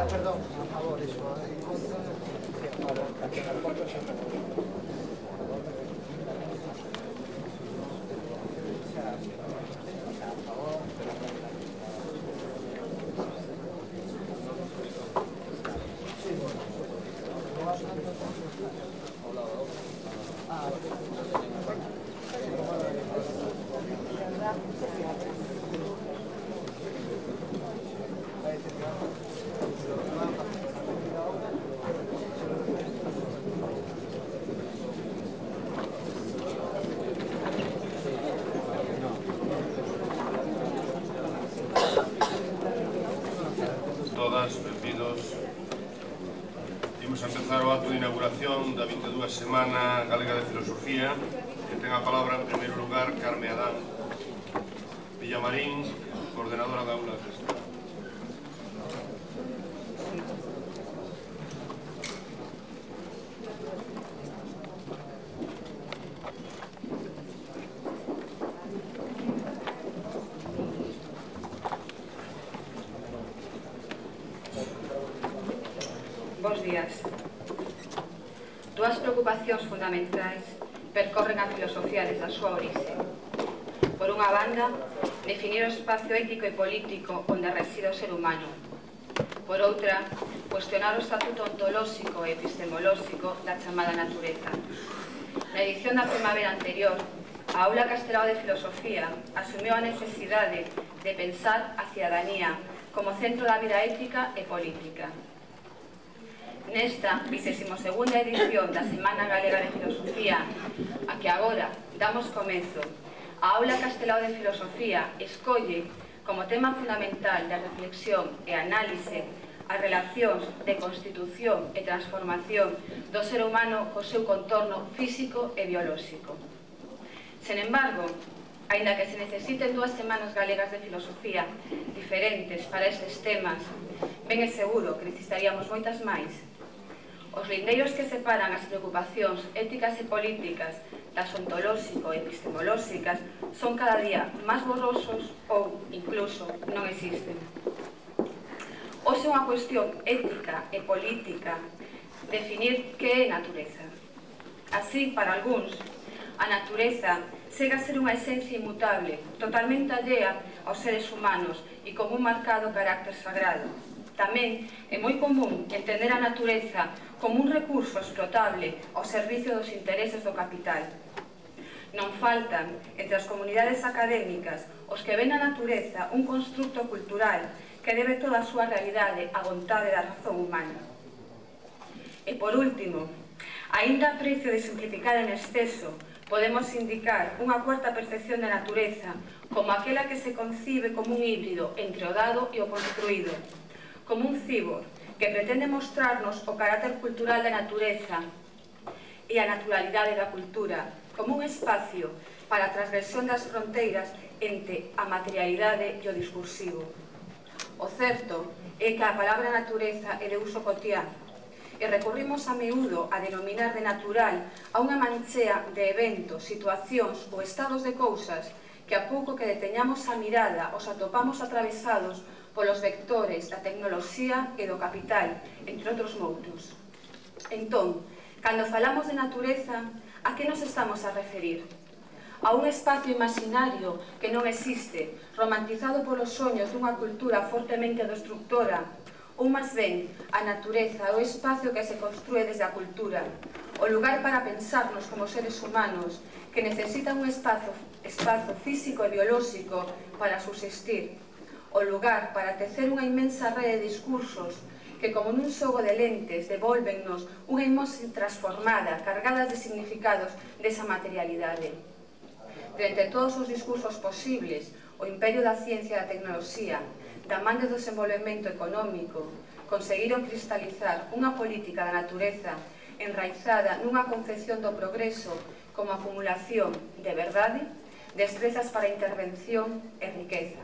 Perdón, a favor, eso. Todas, benvidos. Imos a empezar o acto de inauguración da 22ª Semana Galega de Filosofía, que ten a palabra en primeiro lugar Carme Adán Villamarín, coordenadora da aula desta. Bos días. Dúas preocupacións fundamentais percorren a filosofía desde a súa orixe. Por unha banda, definir o espacio ético e político onde reside o ser humano. Por outra, cuestionar o estatuto ontolóxico e epistemolóxico da chamada natureza. Na edición da primavera anterior, a Aula Castelao de Filosofía asumiu a necesidade de pensar a cidadanía como centro da vida ética e política. Nesta 22ª edición da Semana Galega de Filosofía, a que agora damos comezo, a Aula Castelao de Filosofía escolle como tema fundamental da reflexión e análise as relacións de constitución e transformación do ser humano co seu contorno físico e biolóxico. Sen embargo, aínda que se necesiten 2 semanas galegas de filosofía diferentes para estes temas, ben é seguro que necesitaríamos moitas máis. Os lindeiros que separan as preocupacións éticas e políticas das ontolóxico e epistemolóxicas son cada día máis borrosos ou, incluso, non existen. Hoxe é unha cuestión ética e política definir que é natureza. Así, para algúns, a natureza segue a ser unha esencia inmutable, totalmente allea aos seres humanos e con un marcado carácter sagrado. Tamén é moi común entender a natureza como un recurso explotable ao servicio dos intereses do capital. Non faltan, entre as comunidades académicas, os que ven a natureza un construto cultural que debe toda a súa realidade á vontade da razón humana. E por último, aínda a precio de simplificar en exceso, podemos indicar unha cuarta percepción da natureza como aquela que se concibe como un híbrido entre o dado e o construído, como un cíbor que pretende mostrarnos o carácter cultural da natureza e a naturalidade da cultura como un espacio para a transgresión das fronteiras entre a materialidade e o discursivo. O certo é que a palabra natureza é de uso cotián e recurrimos a miúdo a denominar de natural a unha manchea de eventos, situacións ou estados de cousas que a pouco que deteñamos a mirada os atopamos atravesados polos vectores da tecnoloxía e do capital, entre outros moitos. Entón, cando falamos de natureza, a que nos estamos a referir? A un espacio imaginario que non existe, romantizado polos soños dunha cultura fortemente destructora, ou máis ben, a natureza é o espacio que se construe desde a cultura, o lugar para pensarnos como seres humanos que necesitan un espazo físico e biolóxico para subsistir, o lugar para tecer unha inmensa rede de discursos que, como nun xogo de lentes, devolvennos unha imaxe transformada, cargadas de significados desa materialidade. De entre todos os discursos posibles, o imperio da ciencia e da tecnoloxía, da man do desenvolvemento económico, conseguiron cristalizar unha política da natureza enraizada nunha concepción do progreso como acumulación de verdade, destrezas para a intervención e riqueza.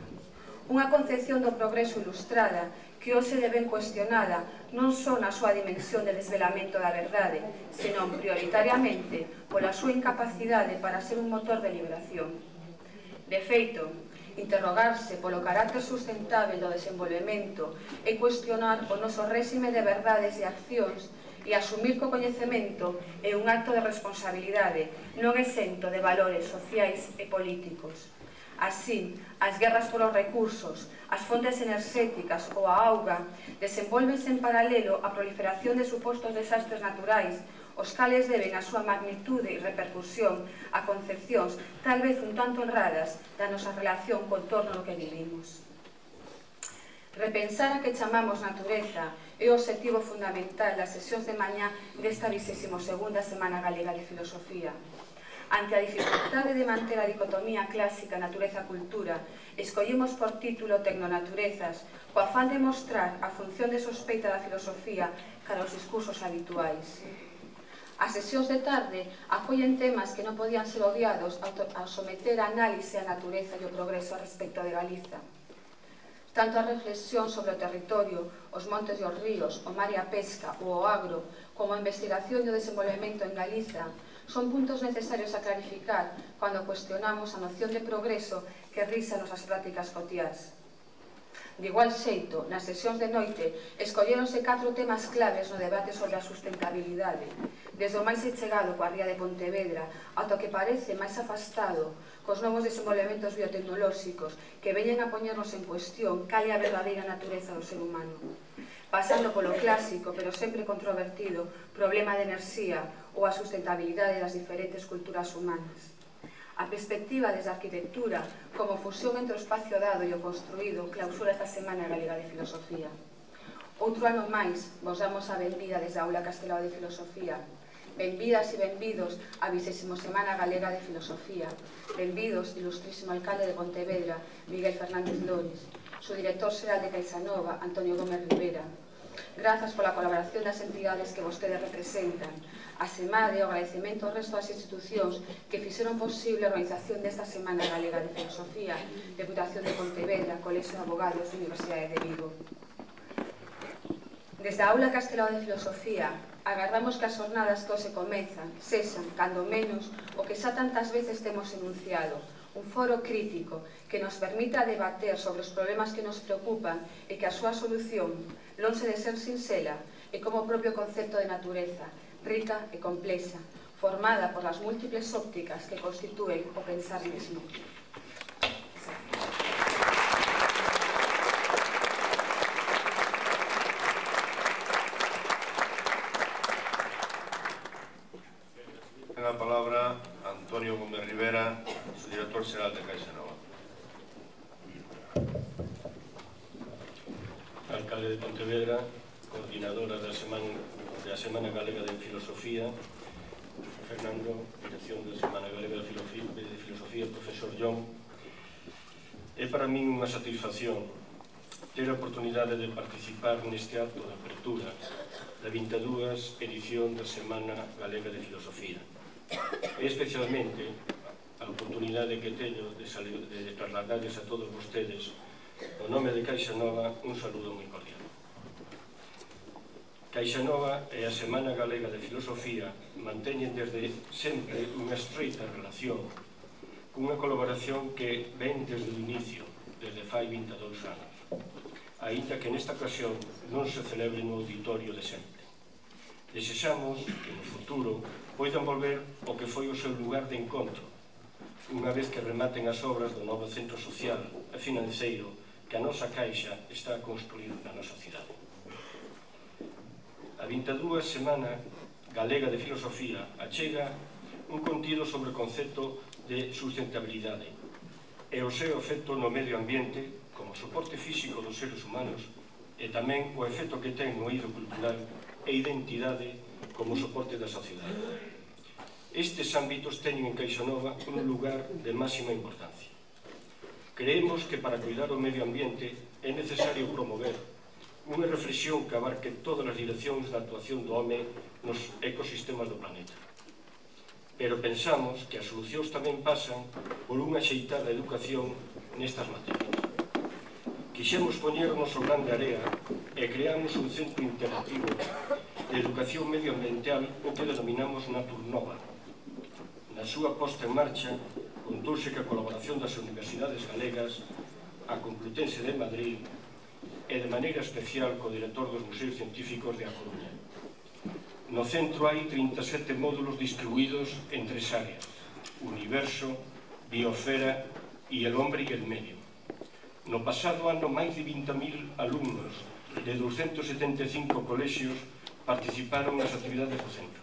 unha concepción do progreso ilustrada que hoxe deben cuestionada non só na súa dimensión de desvelamento da verdade, senón prioritariamente pola súa incapacidade para ser un motor de liberación. De feito, interrogarse polo carácter sustentável do desenvolvemento e cuestionar o noso réxime de verdades e accións e asumir co coñecemento é un acto de responsabilidade non exento de valores sociais e políticos. Así, as guerras polos recursos, as fontes enerxéticas ou a auga desenvolvense en paralelo á proliferación de supostos desastres naturais, os cales deben a súa magnitude e repercusión a concepcións tal vez un tanto honradas da nosa relación co entorno no que vivimos. Repensar a que chamamos natureza é o obxectivo fundamental das sesións de mañá desta 22ª Semana Galega de Filosofía. Ante a dificultade de manter a dicotomía clásica natureza-cultura, escollimos por título Tecnonaturezas, co afán de mostrar a función de sospeita da filosofía cara aos discursos habituais. As sesións de tarde acollen temas que non podían ser obviados ao someter a análise a natureza e o progreso a respecto de Galiza. Tanto a reflexión sobre o territorio, os montes e os ríos, o mar e a pesca ou o agro, como a investigación e o desenvolvemento en Galiza, son puntos necesarios a clarificar cando cuestionamos a noción de progreso que risa nosas prácticas cotiás. De igual xeito, nas sesións de noite, escolléronse 4 temas claves no debate sobre a sustentabilidade, desde o máis achegado coa ría de Pontevedra ata o que parece máis afastado cos novos desenvolvementos biotecnolóxicos que veñen a poñernos en cuestión cal é a verdadeira natureza do ser humano. Pasando polo clásico, pero sempre controvertido, problema de enerxía ou a sustentabilidade das diferentes culturas humanas. A perspectiva desde a arquitectura, como fusión entre o espacio dado e o construído, clausura esta Semana Galega de Filosofía. Outro ano máis, vos damos a benvida desde a Aula Castelao de Filosofía. Benvidas e benvidos á 20ª Semana Galega de Filosofía. Benvidos, ilustrísimo alcalde de Pontevedra, Miguel Fernández Lores, su director xeral de Caixanova, Antonio Gómez Rivera. Grazas pola colaboración das entidades que vostedes representan. A SEMADE e o agradecemento ao resto das institucións que fixeron posible a organización desta Semana Galega de Filosofía, Deputación de Pontevedra, Colexio de Abogados e Universidade de Vigo. Desde a Aula Castelao de Filosofía, agardamos que as jornadas que hoxe comezan sexan, cando menos, o que xa tantas veces temos enunciado, un foro crítico que nos permita debater sobre os problemas que nos preocupan e que a súa solución, lonxe de ser sinxela, é como o propio concepto de natureza, rica e complexa, formada por as múltiples ópticas que constitúen o pensar mesmo. Ten a palabra Antonio Gómez Rivera, su director xeral de Caixanova. Alcalde de Pontevedra, coordinadora da Semana Galega de Filosofía, Fernando, dirección da Semana Galega de Filosofía, profesor John. É para min unha satisfacción ter a oportunidade de participar neste acto de apertura da 22ª edición da Semana Galega de Filosofía. E especialmente a oportunidade que teño de trasladarles a todos vostedes, no nome de Caixanova, un saludo moi cordial. Caixanova e a Semana Galega de Filosofía manteñen desde sempre unha estreita relación, cunha colaboración que ven desde o inicio, desde fai 22 anos, aínda que nesta ocasión non se celebre no auditorio de sempre. Desexamos que no futuro poidan volver o que foi o seu lugar de encontro, unha vez que rematen as obras do novo centro social e financeiro que a nosa Caixa está a construir na nosa cidade. A 22ª Semana Galega de Filosofía achega un contido sobre o concepto de sustentabilidade e o seu efecto no medio ambiente como soporte físico dos seres humanos e tamén o efecto que ten no eido cultural e identidade como soporte da sociedade. Estes ámbitos teñen en Caixanova un lugar de máxima importancia. Creemos que para cuidar o medio ambiente é necesario promover unha reflexión que abarque todas as direccións da actuación do home nos ecosistemas do planeta. Pero pensamos que as solucións tamén pasan por unha axeitada educación nestas materias. quixemos poñernos o plan de area e creamos un centro interactivo de educación medioambiental o que denominamos Naturnova. Na súa posta en marcha, contouse que a colaboración das universidades galegas, a Complutense de Madrid e de maneira especial co director dos Museos Científicos de A Coruña. No centro hai 37 módulos distribuídos en 3 áreas: universo, biosfera e el hombre e el medio. No pasado ano, máis de 20.000 alumnos de 275 colexios participaron nas actividades do centro.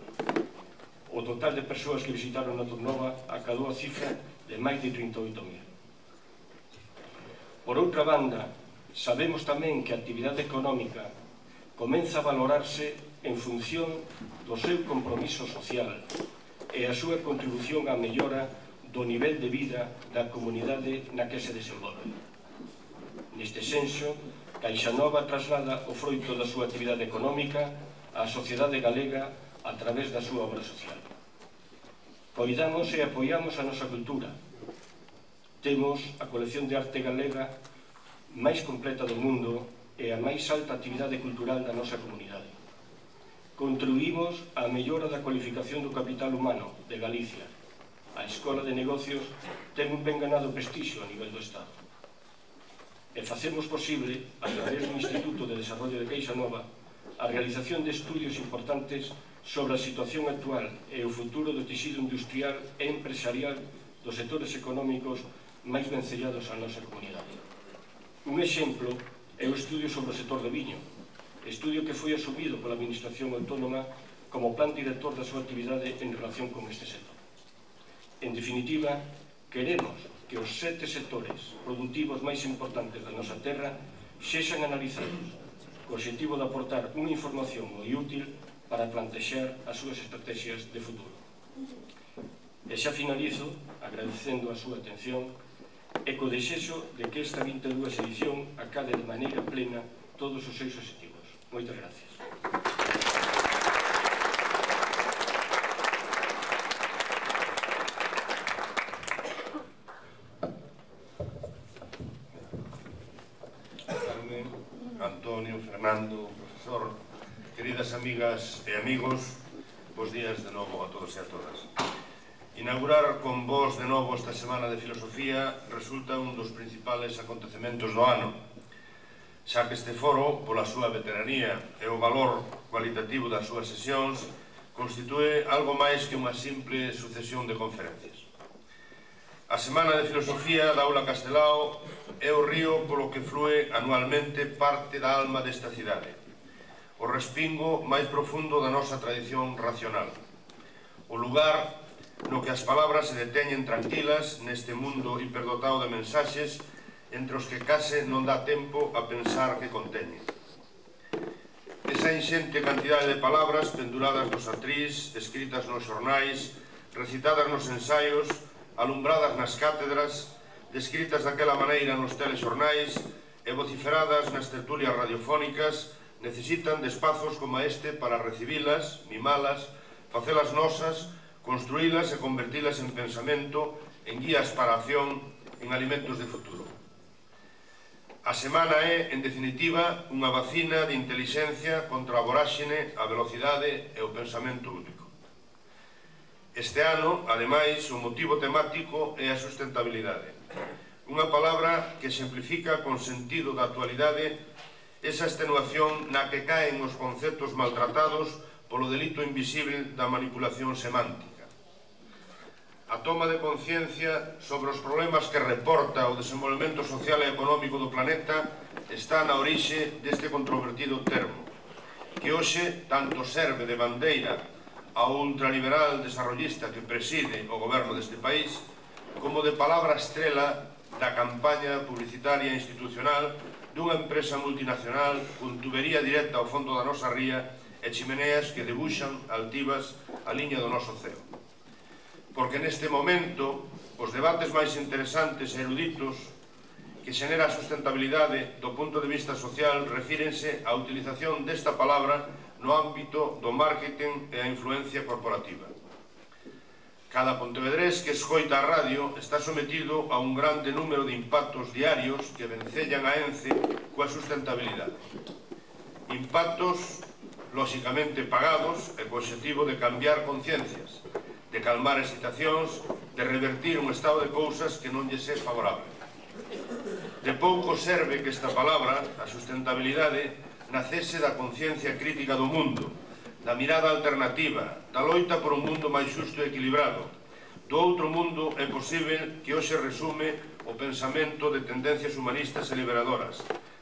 O total de persoas que visitaron Naturnova acadou a cifra de máis de 38.000. Por outra banda, sabemos tamén que a actividade económica comeza a valorarse en función do seu compromiso social e a súa contribución á mellora do nivel de vida da comunidade na que se desenvolve. Neste senso, CaixaNova traslada o froito da súa actividade económica á sociedade galega a través da súa obra social. Coidamos e apoiamos a nosa cultura. Temos a colección de arte galega máis completa do mundo e a máis alta actividade cultural da nosa comunidade. Contribuímos á mellora da cualificación do capital humano de Galicia. A Escola de Negocios ten un ben ganado prestixio a nivel do Estado. E facemos posible, a través do Instituto de Desarrollo de CaixaNova, a realización de estudios importantes sobre a situación actual e o futuro do tecido industrial e empresarial dos sectores económicos máis vencellados á nosa comunidade. Un exemplo é o estudio sobre o sector do viño, estudio que foi asumido pola Administración Autónoma como plan director da súa actividade en relación con este sector. En definitiva, queremos que os 7 sectores productivos máis importantes da nosa terra sexan analizados, co objetivo de aportar unha información moi útil para plantexar as súas estrategias de futuro. E xa finalizo agradecendo a súa atención e co desexo de que esta 22 edición acade de maneira plena todos os seus objetivos. Moitas gracias. Antonio, Fernando, profesor, queridas amigas e amigos, bos días de novo a todos e a todas. Inaugurar con vos de novo esta Semana de Filosofía resulta un dos principales acontecementos do ano, xa que este foro, pola súa veteranía e o valor cualitativo das súas sesións, constitúe algo máis que unha simple sucesión de conferencias. A Semana de Filosofía da Aula Castelao é o río polo que flúe anualmente parte da alma desta cidade, o respingo máis profundo da nosa tradición racional, o lugar no que as palabras se deteñen tranquilas neste mundo hiperdotado de mensaxes entre os que case non dá tempo a pensar que conteñen. Esa inxente cantidade de palabras penduradas nos atrís, escritas nos xornais, recitadas nos ensaios, alumbradas nas cátedras, descritas daquela maneira nos telexornais e vociferadas nas tertulias radiofónicas, necesitan de espazos como este para recibilas, mimalas, facelas nosas, construílas e convertilas en pensamento, en guías para a acción, en alimentos de futuro. A semana é, en definitiva, unha vacina de intelixencia contra a voráxine, a velocidade e o pensamento único. Este ano, ademais, o motivo temático é a sustentabilidade. Unha palabra que exemplifica con sentido da actualidade esa extenuación na que caen os conceptos maltratados polo delito invisible da manipulación semántica. A toma de conciencia sobre os problemas que reporta o desenvolvemento social e económico do planeta está na orixe deste controvertido termo, que hoxe tanto serve de bandeira ao ultraliberal desarrollista que preside o goberno deste país, como de palabra estrela da campaña publicitaria institucional dunha empresa multinacional con tubería directa ao fondo da nosa ría e chimeneas que debuxan altivas a liña do noso ceo. Porque neste momento os debates máis interesantes e eruditos que xenera a sustentabilidade do punto de vista social refírense á utilización desta palabra no ámbito do marketing e a influencia corporativa. Cada pontevedrés que escoita a radio está sometido a un grande número de impactos diarios que vencellan a Ence coa sustentabilidade. Impactos, lóxicamente pagados, e co obxectivo de cambiar conciencias, de calmar excitacións, de revertir un estado de cousas que non lles é favorable. De pouco serve que esta palabra, a sustentabilidade, nacese da conciencia crítica do mundo, da mirada alternativa, da loita por un mundo máis xusto e equilibrado. Do outro mundo é posible que hoxe resume o pensamento de tendencias humanistas e liberadoras.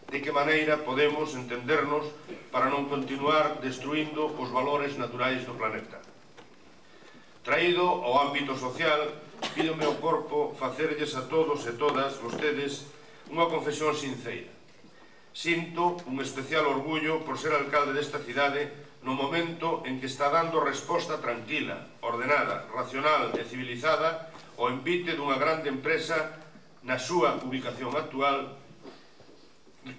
De que maneira podemos entendernos para non continuar destruindo os valores naturais do planeta. Traído ao ámbito social, pídome ao corpo facerlles a todos e todas vostedes unha confesión sincera. Sinto un especial orgullo por ser alcalde desta cidade no momento en que está dando resposta tranquila, ordenada, racional e civilizada ao envite dunha grande empresa na súa ubicación actual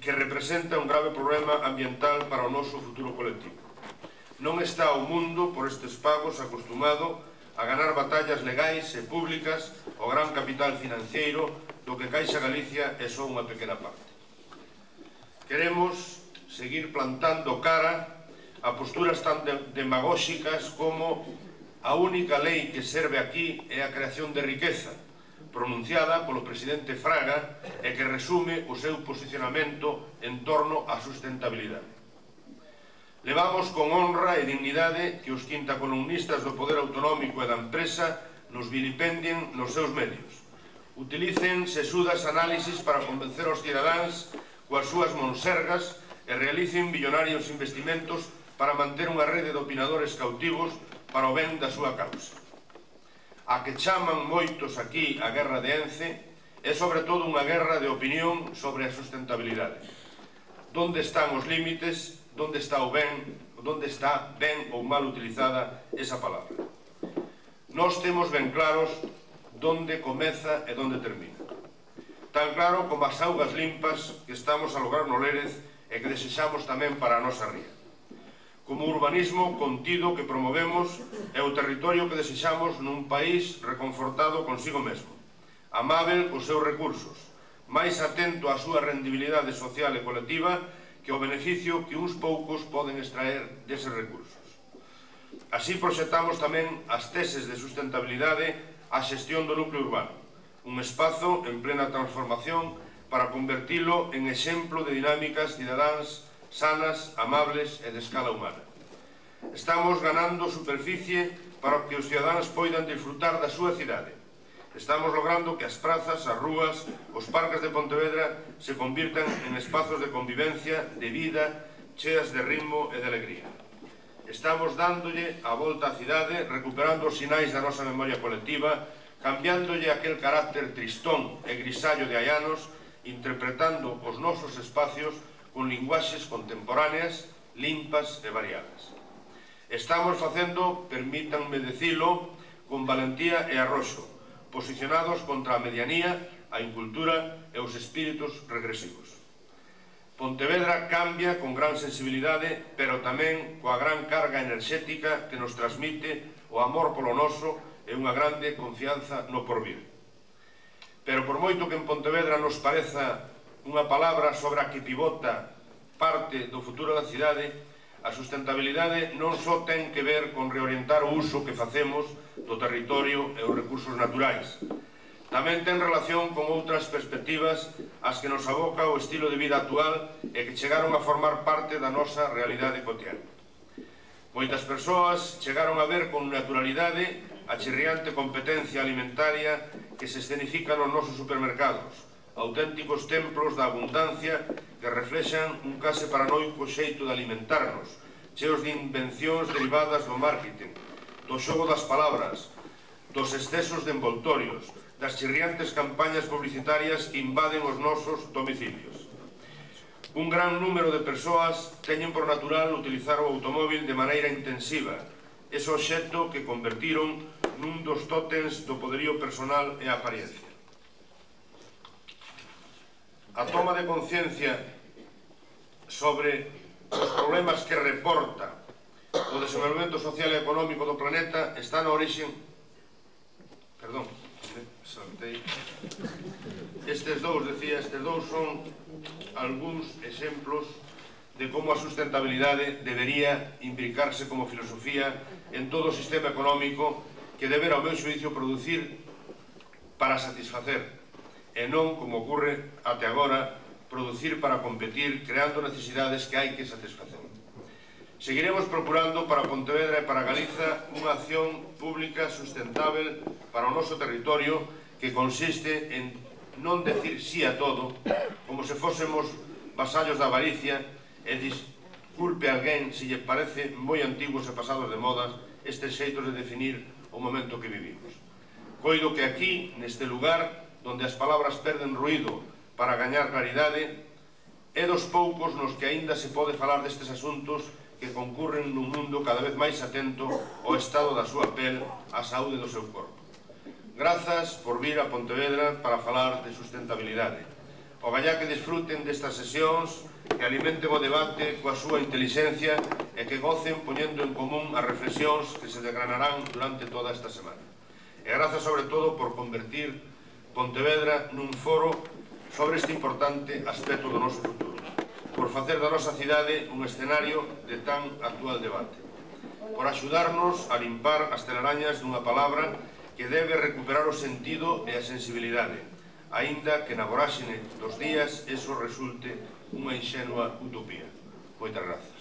que representa un grave problema ambiental para o noso futuro colectivo. Non está o mundo por estes pagos acostumado a ganar batallas legais e públicas o gran capital financiero do que Caixa Galicia é só unha pequena parte. Queremos seguir plantando cara a posturas tan demagóxicas como a única lei que serve aquí é a creación de riqueza, pronunciada polo presidente Fraga e que resume o seu posicionamento en torno á sustentabilidade. Levamos con honra e dignidade que os quintacolumnistas do poder autonómico e da empresa nos vilipendien nos seus medios. Utilicen sesudas análisis para convencer aos cidadáns coas súas monsergas e realicen billonarios investimentos para manter unha rede de opinadores cautivos para o ben da súa causa. A que chaman moitos aquí a guerra de Ence é sobre todo unha guerra de opinión sobre a sustentabilidade. Donde están os límites? Donde está o ben? Donde está ben ou mal utilizada esa palabra? Nós temos ben claros donde comeza e donde termina. Tan claro como as augas limpas que estamos a lograr no Lérez e que desexamos tamén para a nosa ría. Como urbanismo contido que promovemos é o territorio que desexamos nun país reconfortado consigo mesmo, amável cos seus recursos, máis atento á súa rendibilidade social e colectiva que ao beneficio que uns poucos poden extraer deses recursos. Así proxectamos tamén as teses de sustentabilidade á xestión do núcleo urbano, un espazo en plena transformación para convertilo en exemplo de dinámicas cidadáns sanas, amables e de escala humana. Estamos ganando superficie para que os cidadáns poidan disfrutar da súa cidade. Estamos logrando que as prazas, as rúas, os parques de Pontevedra se convirtan en espazos de convivencia, de vida, cheas de ritmo e de alegría. Estamos dándolle a volta á cidade, recuperando os sinais da nosa memoria colectiva, cambiándolle aquel carácter tristón e grisallo de hai anos, interpretando os nosos espacios con linguaxes contemporáneas, limpas e variadas. Estamos facendo, permítanme dicilo, con valentía e arroxo, posicionados contra a medianía, a incultura e os espíritus regresivos. Pontevedra cambia con gran sensibilidade, pero tamén coa gran carga enerxética que nos transmite o amor polo noso e unha grande confianza no porvir. Pero por moito que en Pontevedra nos pareza unha palabra sobre a que pivota parte do futuro da cidade, a sustentabilidade non só ten que ver con reorientar o uso que facemos do territorio e os recursos naturais. Tamén ten relación con outras perspectivas ás que nos aboca o estilo de vida actual e que chegaron a formar parte da nosa realidade cotidiana. Moitas persoas chegaron a ver con naturalidade a chirriante competencia alimentaria que se escenifica nos nosos supermercados, auténticos templos da abundancia que reflexan un case paranoico xeito de alimentarnos, cheos de invencións derivadas do marketing, do xogo das palabras, dos excesos de envoltorios, das chirriantes campañas publicitarias que invaden os nosos domicilios. Un gran número de persoas teñen por natural utilizar o automóvil de maneira intensiva, ese obxecto que convertiron nun dos tótems do poderío personal e a apariencia. A toma de conciencia sobre os problemas que reporta o desenvolvemento social e económico do planeta está na orixe saltei. Estes dous son algúns exemplos de como a sustentabilidade debería imbricarse como filosofía en todo o sistema económico que debera, ao meu xuízo, producir para satisfacer e non, como ocorre até agora, producir para competir, creando necesidades que hai que satisfacer. Seguiremos procurando para Pontevedra e para Galiza unha acción pública sustentável para o noso territorio que consiste en non decir sí a todo, como se fósemos vasallos da avaricia, e disculpe alguén se lle parece moi antigos e pasados de modas estes xeitos de definir o momento que vivimos. Coido que aquí, neste lugar, donde as palabras perden ruído para gañar claridade, é dos poucos nos que aínda se pode falar destes asuntos que concurren nun mundo cada vez máis atento ao estado da súa pel, á saúde do seu corpo. Grazas por vir a Pontevedra para falar de sustentabilidade. Ogallá que desfruten destas sesións, que alimenten o debate coa súa intelixencia e que gocen poñendo en común as reflexións que se desgranarán durante toda esta semana. E grazas sobre todo por convertir Pontevedra nun foro sobre este importante aspecto do noso futuro, por facer da nosa cidade un escenario de tan actual debate, por axudarnos a limpar as telarañas dunha palabra que debe recuperar o sentido e a sensibilidade, aínda que na voráxine dos días eso resulte unha inxenua utopía. Moitas grazas.